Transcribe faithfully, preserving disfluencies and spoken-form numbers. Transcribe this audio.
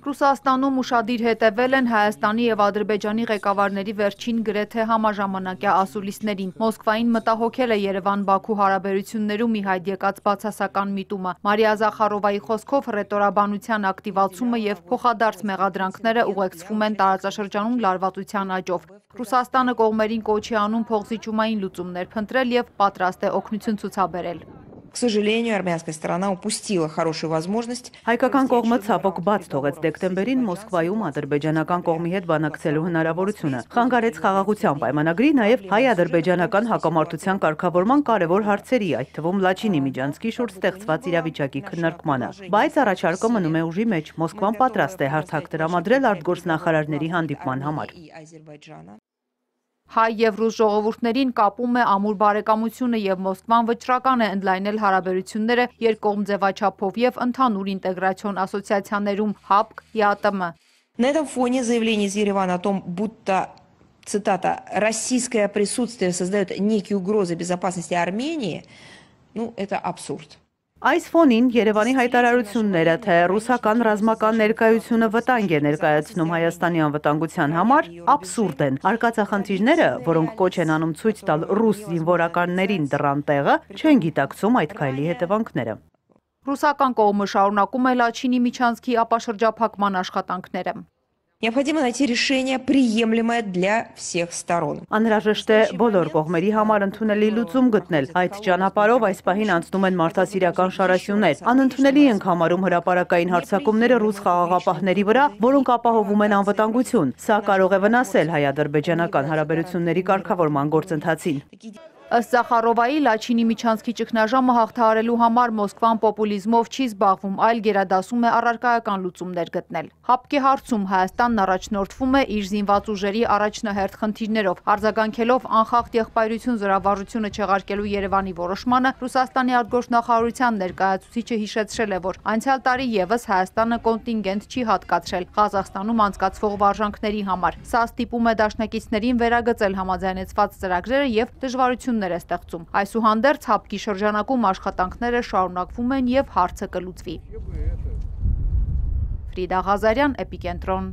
Ռուսաստանում ուշադիր հետևել են Հայաստանի և Ադրբեջանի ղեկավարների վերջին գրեթե համաժամանակյա ասուլիսներին։ Մոսկվային մտահոգել է Երևան-Բաքու հարաբերություններում ի հայտ եկած բացասական միտումը։ Մարիա Զախարովայի խոսքով հռետորաբանության ակտիվացումը և փոխադարձ մեղադրանքները ուղեկցվում են տարածաշրջանում լարվածության աճով։ Ռուսաստանը կողմերին կոչ է անում փոխզիջումային լուծումներ փնտրել և պատրաստ է օգնություն ցուցաբերել։ К сожалению, армянская сторона упустила хорошую возможность. Հայկական կողմը ցավոք բաց թողեց դեկտեմբերին Մոսկվայում ադրբեջանական կողմի հետ բանակցելու հնարավորությունը։ Խանգարեց խաղաղության պայմանագրի, նաև հայ-ադրբեջանական հակամարտության կարգավորման կարևոր հարցերի, այդ թվում Լաչինի Միջանցքի շուրջ ստեղծված իրավիճակի քննարկմանը։ Բայց առաջարկը մնում է ուժի մեջ։ Մոսկվան պատրաստ է հարթակ տրամադրել արտգործնախարարների հանդիպման համար։ Հայ և ռուս ժողովուրդներին կապում է ամուր բարեկամությունը և Մոսկվան վճռական է ընդլայնել հարաբերությունները երկկողմ ձևաչափով և ընդհանուր ինտեգրացիոն ասոցիացիաներում ՀԱՊԿ, ԵԱՏՄ։ На этом фоне заявление из Еревана о том, будто, цитата, «российское присутствие создает некие угрозы безопасности Армении», ну, это абсурд. Այս ֆոնին Երևանի հայտարարությունները, թե ռուսական ռազմական ներկայությունը վտանգ է ներկայացնում Հայաստանի անվտանգության համար, աբսուրդ են։ Արկածախնդիրները, որոնք կոչ են անում ցույց տալ ռուս զինվորականներին դռան տեղը, չեն գիտակցում այդ քայլի հետևանքները։ Ռուսական կողմը շարունակում է Լաչինի Միջանցքի ապաշրջափակման աշխատանքները։ Необходимо найти решение, приемлемое для всех сторон. Անհրաժեշտ է բոլոր կողմերի համար ընդունելի լուծում գտնել։ Այդ ճանապարհով այս պահին անցնում են մարդասիրական շարասյուններ։ Անընդունելի ենք համարում հրապարակային հարձակումները ռուս խաղաղապահների վրա, որոնք ապահովում են անվտանգություն։ Սա կարող է վնասել հայ-ադրբեջանական հարաբերությունների կարգավորման գործընթացին։ Ըստ Զախարովայի, Լաչինի Միջանցքի ճգնաժամը հաղթահարելու համար Մոսկվան պոպուլիզմով չի զբաղվում, այլ գերադասում է առարկայական լուծումներ գտնել։ ՀԱՊԿ-ի հարցում Հայաստանն առաջնորդվում է իր զինված ուժերի առաջնահերթ խնդիրներով։ Արձագանքելով անխախտ եղբայրություն զորավարժությունը չեղարկելու Երևանի որոշմանը, Ռուսաստանի արտգործնախարարության ներկայացուցիչը հիշեցրել է, որ անցյալ տարի ևս Հայաստանը կոնտինգենտ չի հատկացրել Ղազախստանում անցկացվող վարժանքների համար։ Սա ստիպում է դաշնակիցներին վերագծել համաձայնեցված ծրագրերը և դժվարություն է ստեղծում։ Այսուհանդերձ ՀԱՊԿ-ի շրջանակում աշխատանքները շարունակվում են և հարցը կլուծվի։ Ֆրիդա Ղազարյան, Էպիկենտրոն։